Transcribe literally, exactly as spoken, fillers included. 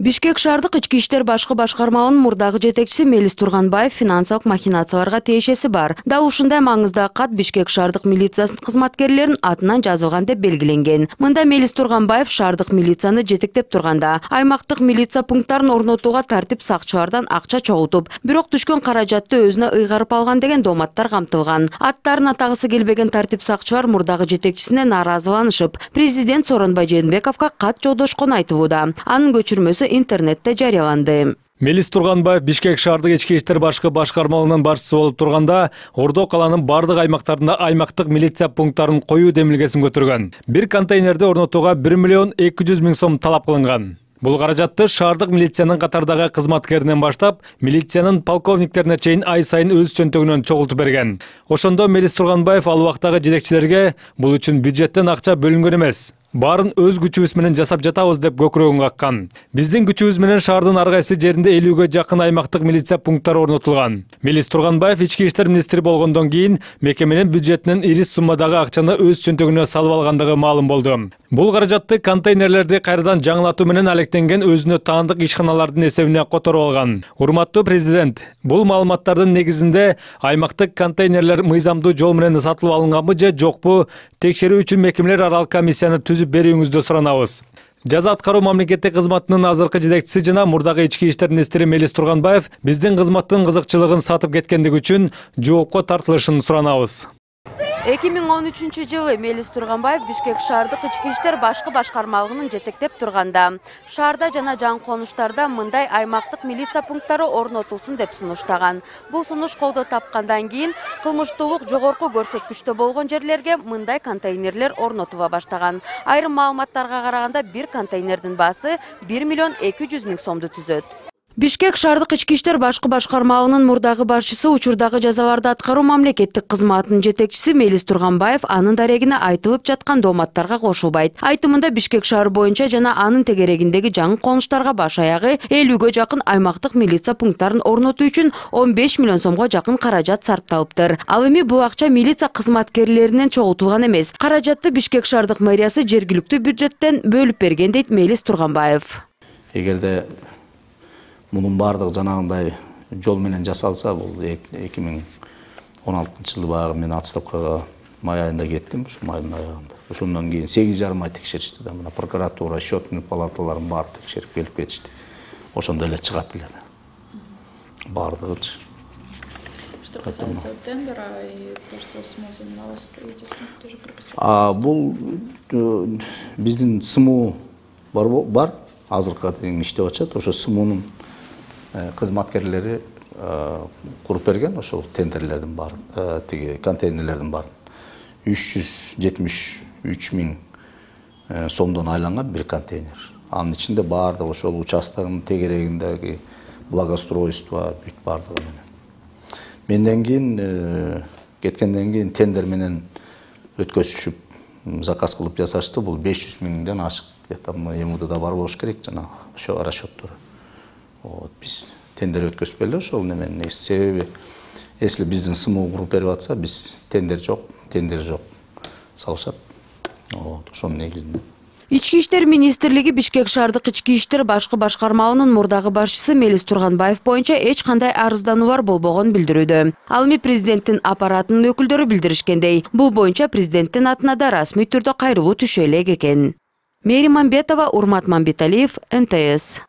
Бишкек шаардык ички иштер башкы башкармалынын мурдагы жетекчиси Мелис Турганбаев финансылык махинацияларга тиешеси бар. Да ушундай маңыздагы кат Бишкек шаардык милициясынын кызматкерлеринин атынан жазылган деп белгиленген. Мында Мелис Турганбаев шаардык милицияны жетектеп турганда, аймактык милиция пункттарын орнотууга тартип сакчылардан акча чогултуп, бирок түшкөн каражатты өзүнө ыйгарып алган деген дооматтар камтылган. Аттарын атагысы келбеген тартип сакчылар мурдагы жетекчисине нааразыланышып, президент Сооронбай Жээнбековго кат жолдошконун айтууда. Анын көчүрмөсү интернетте жарыяланды. Мелис Турганбаев Бишкек шаардык ички иштер башкы башкармалынын башчысы болуп турганда, Ордо каланын бардык аймактарында аймактык милиция пункттарын коюу демилгесин көтөргөн. Бир контейнерди орнотууга бир миллион эки жүз миң сом талап кылынган. Бул каражатты шаардык милициянын катардагы кызматкеринен баштап, милициянын полковниктерине чейин ай сайын өз чөнтөгүнөн чогултуп берген. Ошондо Мелис Турганбаев ал убактагы жетекчилерге бул үчүн бюджеттен акча бөлүнгөн эмес, баарын өз күчүбүз менен жасап жатабыз деп көкүрөгүн каккан. Биздин күчүбүз менен шаардын ар кайсы жеринде элүүгө жакын аймактык милиция пункттары орнотулган. Мелис Турганбаев ички иштер министри болгондон кийин мекеменин бюджетинен ири суммадагы акчаны өз чөнтөгүнө салып алгандыгы маалым болду. Бул каражатты контейнерлерди кайрадан жаңылатуу менен алектенген өзүнө таандык ишканалардын эсебине которуп алган. Урматтуу президент, бул маалыматтардын негизинде аймактык контейнерлер мыйзамдуу жол менен сатылып алынганбы же жокпу текшерүү үчүн мекемелер аралык комиссияны түзүп берүүңүздү суранабыз. Жаза аткаруу мамлекеттик кызматынын азыркы жетекчиси жана мурдагы ички иштер министри Мелис Турганбаев биздин кызматтын кызыкчылыгын сатып кеткендиги үчүн жоопко тартылышын суранабыз. эки миң он үчүнчү жылы Мелис Турганбаев Бишкек шаардык ички иштер башкы башкармалыгынын жетектеп турганда, шаарда жана жаңы конуштарда мындай аймактык милиция пункттары орнотулсун деп сунуштаган. Бул сунуш колдоо тапкандан кийин кылмыштуулук жогорку көрсөткүчтө болгон жерлерге мындай контейнерлер орнотула баштаган. Айрым маалыматтарга караганда бир контейнердин баасы бир миллион эки жүз миң сомду түзөт. Бишкек шаардык ички иштер башкы башкармалынын мурдагы башчысы учурдагы жазаларды аткаруу мамлекеттик кызматынын жетекчиси Мелис Турганбаев анын дарегине айтылып жаткан дооматтарга кошулбайт. Айтымында Бишкек шаары боюнча жана анын тегерегиндеги жаңы конуштарга баш аягы элүүгө жакын аймактык милиция пункттарын орнотуу үчүн он беш миллион сомго жакын каражат сарпталыптыр. Ал эми бул акча милиция кызматкерлеринен чогултулган эмес. Каражатты Бишкек шаардык мэриясы жергиликтүү бюджеттен бөлүп берген дейт Мелис Турганбаев. Эгерде мунун бардыгы жанагындай жол менен жасалса, бул эки миң он алтынчы жылы баягы мен отставкага май айында кеттим, ушу майдын аягында. Ошондон кийин сегиз жарым ай текшеришти да, мына прокуратура, счетный палаталарын баары текшерип келип кетишти. Ошондо эле чыгат эле да. Бардыгычы. Что касается тендера и то, что СМУ на вас строительство, тоже пропустил. А бул биздин СМУ бар бар, азыркыга чейин иштеп атышат. Ошо СМУнун кызматкерлери куруп берген ошол тендерлердин баарын, тиги контейнерлердин баарын. үч жүз жетимиш үч миң сомдон айланган бир контейнер. Анын ичинде баардыгы ошол участканын тегерегиндеги благоустройство бүт баардыгы менен. Менден кийин кеткенден кийин тендер менен өткөзүшүп заказ кылып жасашты. Бул беш жүз миңден ашык. Где-то эм вэ дэ да бар болуш керек жана ошо расчёттор. Вот, биз тендер өткөзүп эле ошол неменин негизи. Себеби если биздин СМУ куруп берип атса, биз тендер жок, тендер жок салышат. Вот, ошонун негизинде. Ички иштер министрлиги Бишкек шаардык ички иштер башкы башкармалынын мурдагы башчысы Мелис Турганбаев боюнча эч кандай арыздануулар болбогонун билдирүүдө. Ал эми президенттин аппаратынын өкүлдөрү билдиришкендей, бул боюнча президенттин атына да расмий түрдө кайрылуу түшө элек экен. Мээрим Мамбетова, Урмат Мамбеталиев, эн тэ эс.